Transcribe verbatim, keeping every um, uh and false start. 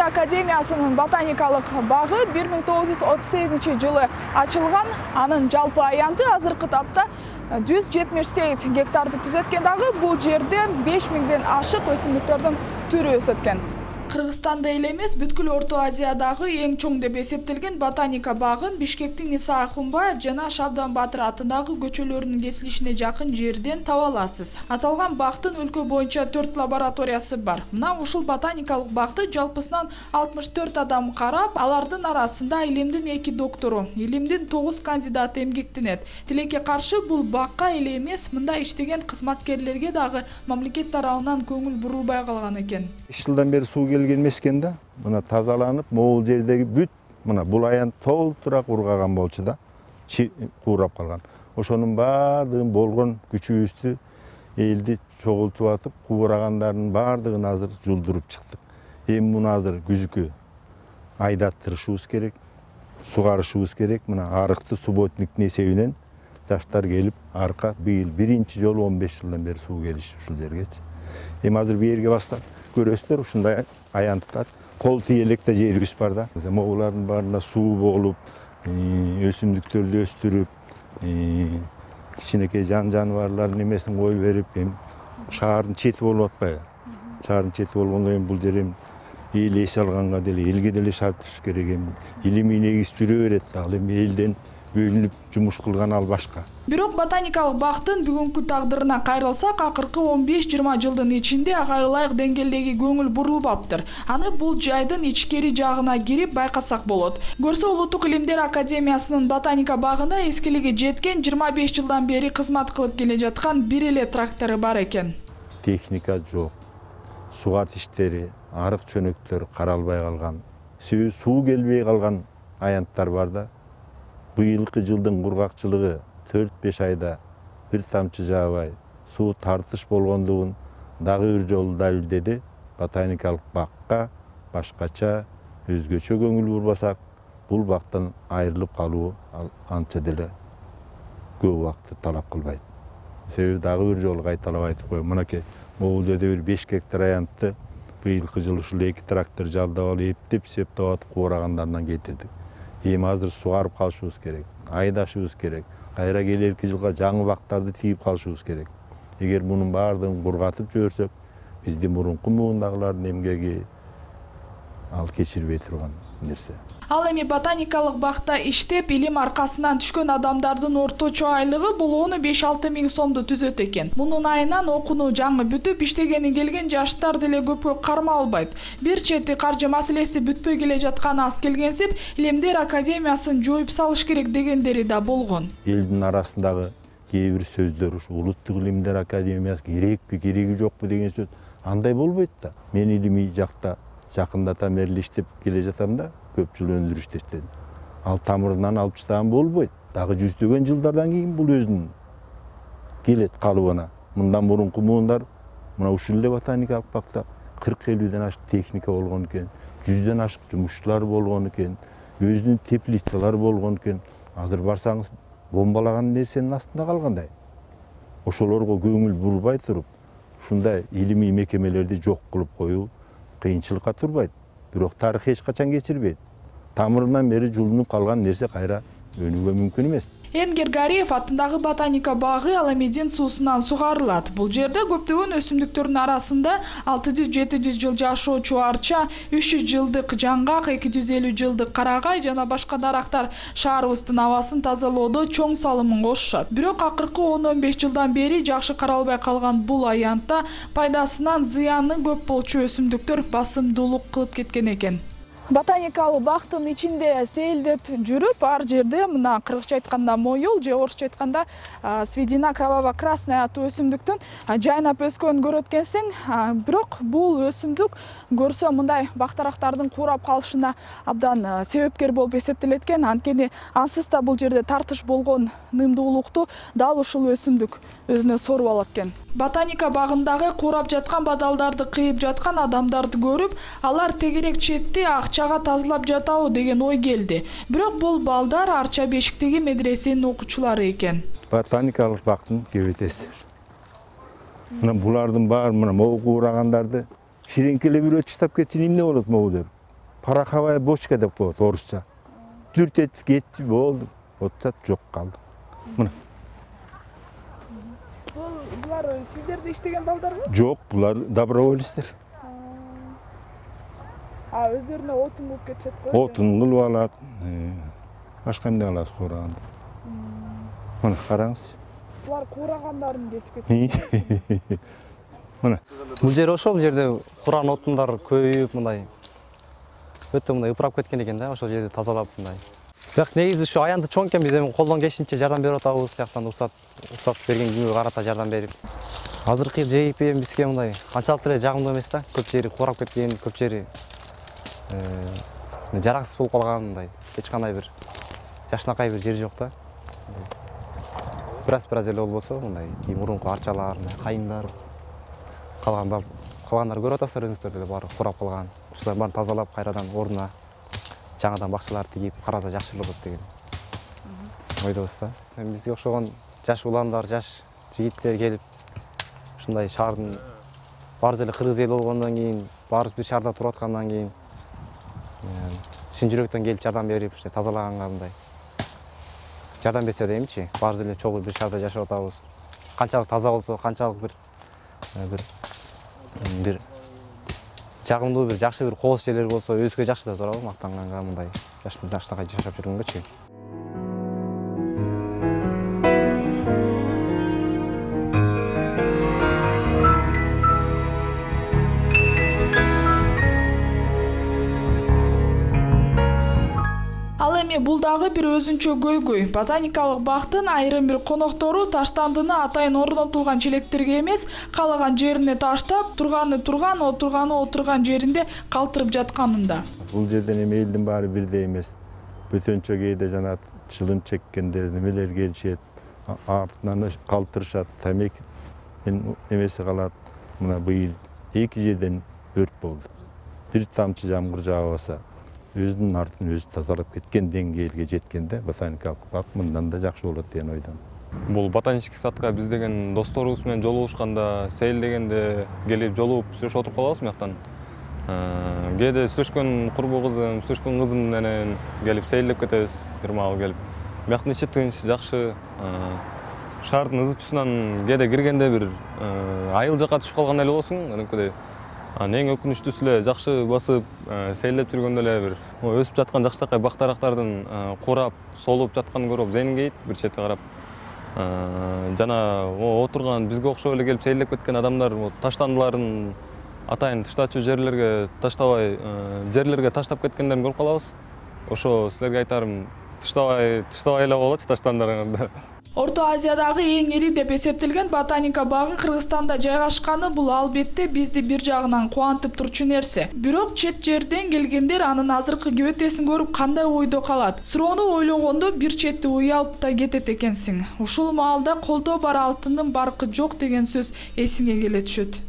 академиясынын ботаникалык багы бир миң тогуз жүз отуз сегизинчи жылы ачылган. Анын жалпы аянты азыркы тапта жүз жетимиш сегиз гектарды түзөт экен. Дагы бул жерде беш миңден ашык өсүмдүктөрдүн түрү өсөт экен. Кыргызстанда эле эмес, бүткүл Орто Азиядагы эң чоң деп эсептелген ботаника багын Бишкектин Иса Акунбаев жана Шабдан Батыр атындагы көчөлөрүнүн кесилишине жакын жерден таба аласыз. Аталган бактын өлкө боюнча төрт лабораториясы бар. Мына ушул ботаникалык бакты жалпысынан алтымыш төрт адам карап, алардын арасында илимдин эки доктору, илимдин тогуз кандидаты эмгектенет. Тилекке каршы бул бакка эле эмес, мында иштеген кызматкерлерге дагы мамлекет тарабынан көңүл бурулбай калган экен. үч жылдан бери суу келген эмес экен да. Мына тазаланып, могул жердеги бүт мына бул аян толтура ургаган болчу да, куурап калган. Ошонун баардыгын болгон күчүбүздү элди чогултуп атып, куурагандардын баардыгын азыр жулдуруп чыктык. Эми муну азыр күзүккө айдаттырышыбыз керек, сугарышыбыз керек. Мына арыкты субботниктин эсебинен жаштар келип, арка быйыл биринчи жолу он беш жылдан бери суу келишти ушул жергечи. Эми азыр бээрге баштап көрөсүздөр, ушундай аянттар, кол тийелекте жергүс бар да. Могулардын баарында суу болуп, өсүмдүктөрдү өстүрүп, кичинекей жан жаныбарлардын эмесин коюп берип, эми шаардын чети болуп атпайбы? Шаардын чети болгондон кийин бул жер эми эл эс алганга деле, элге деле шарт түшүш керек. Эми илимий негиз жүрө берет да, ал эми элден бөлүнүп жумуш кылган ал башка. Бирок ботаникалык бактын бүгүнкү тагдырына кайрылсак, акыркы он беш жыйырма жылдын ичинде ага ылайык деңгээлдеги көңүл бурулбаптыр. Аны бул жайдын ичкери жагына кирип байкасак болот. Көрсө Улуттук Илимдер Академиясынын ботаника багында эскилиги жеткен жыйырма беш жылдан бери кызмат кылып келе жаткан бир эле трактору бар экен. Техника жок. Сугат иштери, арык чөнөктөр каралбай калган, суу келбей калган аянттар бар да. Быйылкы жылдын кургакчылыгы төрт беш айда бир тамчы жаабай, суу тартыш болгондугун дагы бир жолу далилдеди. Ботаникалык бакка башкача, өзгөчө көңүл бурбасак, бул бактан айрылып калуу анча деле көп убакытты талап кылбайт. Себеби дагы бир жолу кайталап айтып коеюн. Мынакей могул жерде бир беш гектар аянтты быйылкы жылы ушул эки трактор жалдап алып эптеп, септеп атып куурагандарынан кетирдик. Эми азыр сугарып калышыбыз керек, айдашыбыз керек. Кайра келерки жылга жаңы бактарды тийип калышыбыз керек. Эгер мунун баардыгын кургатып жиберсек, биздин мурунку муундагылардын эмгеги ал кечирбей турган нерсе. Ал эми ботаникалык бакта иштеп, илим аркасынан түшкөн адамдардын орточо айлыгы бул он беш алты миң сомду түзөт экен. Мунун айынан окууну жаңы бүтүп, иштегени келген жаштар деле көпкө карма албайт. Бир чети каржы маселеси бүтпөй келе жатканы аз келгенсип, Илимдер Академиясын жоюп салыш керек дегендери да болгон. Элдин арасындагы кээ бир сөздөр, ушу Улуттук Илимдер Академиясы керекпи, кереги жокпу деген сөз андай болбойт да. Мен илимий жакта жакындата мерли иштеп келе жатам да, көп жыл өндүрүштө иштедим. Ал тамырынан алып таштаган болбойт. Дагы жүздөгөн жылдардан кийин бул өзүнүн келет калыбына. Мындан мурунку муундар мына ушул эле ботаникалык бакта кырк элүүдөн ашык техника болгон экен, жүздөн ашык жумушчулар болгон экен, өзүнүн теплицалары болгон экен. Азыр барсаңыз бомбалаган нерсенин астында калгандай. Ошолорго көңүл бурбай туруп, ушундай илимий мекемелерди жок кылып коюу кыйынчылыкка турбайт. Бирок тарых эч качан кечирбейт. Тамырынан бери жулунуп калган нерсе кайра өнүүгө мүмкүн эмес. Энгер Гариев атындагы ботаника багы Аламедин суусунан сугарылат. Бул жерде көптөгөн өсүмдүктөрдүн арасында алты жүз жети жүз жыл жашоочу арча, үч жүз жылдык жаңгак, эки жүз элүү жылдык карагай жана башка дарактар шаарыбыздын абасын тазалоодо чоң салымын кошушат. Бирок акыркы он он беш жылдан бери жакшы каралбай калган бул аянтта пайдасынан зыяны көп болчу өсүмдүктөр басымдуулук кылып кеткен экен. Ботаникалык бактын ичинде сейилдеп жүрүп, ар жерде мына кыргызча айтканда моюл же орусча айтканда сведена кроваво-красная аттуу өсүмдүктүн жайнап өскөнүн көрөт экенсиң. Бирок бул өсүмдүк көрсө мындай бактарактардын куурап калышына абдан себепкер болуп эсептелет экен. Анткени ансыз да бул жерде тартыш болгон нымдуулукту дал ушул өсүмдүк өзүнө соруп алат экен. Ботаника багындагы куурап жаткан бадалдарды кыйып жаткан адамдарды көрүп, алар тегерек четти акчага тазалап жатабы деген ой келди. Бирок бул балдар Арча Бешиктеги медресенин окуучулары экен. Ботаникалык бактын кебетеси. Мына булардын баары мына могу куурагандарды ширеңкелеп үйрөтүп таштап кетсин эмне болот могулар? пороховая бочка деп коет орусча. Дүртетип кетти, болду. Отчат жок калды. Мына. Булар сиздерде иштеген балдарбы? Жок, булар добровольецтер. А өздөрүнө отун кылып кетишет го. Отун кылып алат. Башка эмне кылат куураганда. Мына караңыз. Булар куурагандарын кесип кетишет. Мына. Бул жер ошол, бул жерде кураган отундар көбөйүп мындай өтө мындай ыпырап кеткен экен да, ошол жерди тазалап мындай. Бирок негизи ушу аянты чоң экен, биз эми колдон келишинче жардам берип атабыз, жактан уруксат, уруксат берген күнгө карата жардам берип. Азыркы жейип эми бизге мындай канчалыктыр эле жагымдуу эмес да, көп жери курап кеткен, көп жери жараксыз болуп калган, мындай эч кандай бир жашынакай бир жер жок да. Бираз бираз эле болбосо, мындай мурунку арчалар, кайыңдар, калган калгандарды көрүп атасыздар өзүңүздөр деле, баары курап калган. Ушуларды баарын тазалап, кайрадан ордуна жаңадан бакчалар тигип караса жакшы болот деген ойдобуз да. Бизге окшогон жаш уландар, жаш жигиттер келип, ушундай шаардын баарыбыз эле кыргыз эли болгондон кийин, баарыбыз бир шаарда туруп аткандан кийин чын жүрөктөн келип жардам берип, ушундай тазалаганга мындай жардам берсе дейминчи. Баарыбыз эле чогуу бир шаарда жашап атабыз. Канчалык таза болсо, канчалык бир бир бир жагымдуу бир жакшы бир кооз жерлер болсо, өзгө жакшы да туурабы, мактанганга мындай жашнакай жашап жүргөнгөчү. Ал эми бул дагы бир өзүнчө көйгөй. Ботаникалык бактын айрым бир коноктору таштандыны атайын орнотулган челектерге эмес, каалаган жерине таштап, турганы турган, отурганы отурган жеринде калтырып жатканында. Бул жерден эми элдин баары бирдей эмес. Бөтөнчө кээде жана чылым чеккендер немелер келишет, артынан калтырышат, тамеки эмеси калат. Мына быйыл эки жерден өрт болду. Бир тамчы жамгыр жаабаса, өзүнүн артын өзү тазалап кеткен деңгээлге жеткенде ботаникалык бак мындан да жакшы болот деген ойдон. Бул ботанический садка биз деген досторубуз менен жолугушканда, сейилдегенде келип жолугуп сүйлөшүп отуруп калабыз мыяктан. Кээде сүйлөшкөн курбу кызым, сүйлөшкөн кызым менен келип сейилдеп кетебиз, бир маал келип. Бияктын ичи тынч, жакшы. Шаардын ызычусунан кээде киргенде бир айыл жака түшүп калган эле болсуң, анткыдай эң өкүнүчтүүсү эле жакшы басып сейилдеп жүргөндө эле бир өсүп жаткан жакшыракай бак дарактардын курап, солуп жатканын көрүп зениңгейт бир чети карап. Жана отурган бизге окшоп эле келип сейилдеп кеткен адамдар таштандыларын атайын таштачу жерлерге таштабай, жерлерге таштап кеткендерин көрүп калабыз. Ошо силерге айтарым, таштабай, таштабай эле болчу таштандарыңарды. Орто Азиядагы эң ири деп эсептелген ботаника багы Кыргызстанда жайгашканы бул албетте бизди бир жагынан кубантып турчу нерсе. Бирок чет жерден келгендер анын азыркы кебетесин көрүп кандай ойдо калат? Суроону ойлогондо бир чети уялып да кетет экенсиң. Ушул маалда колдо бар алтындын баркы жок деген сөз эсиңе келе түшөт.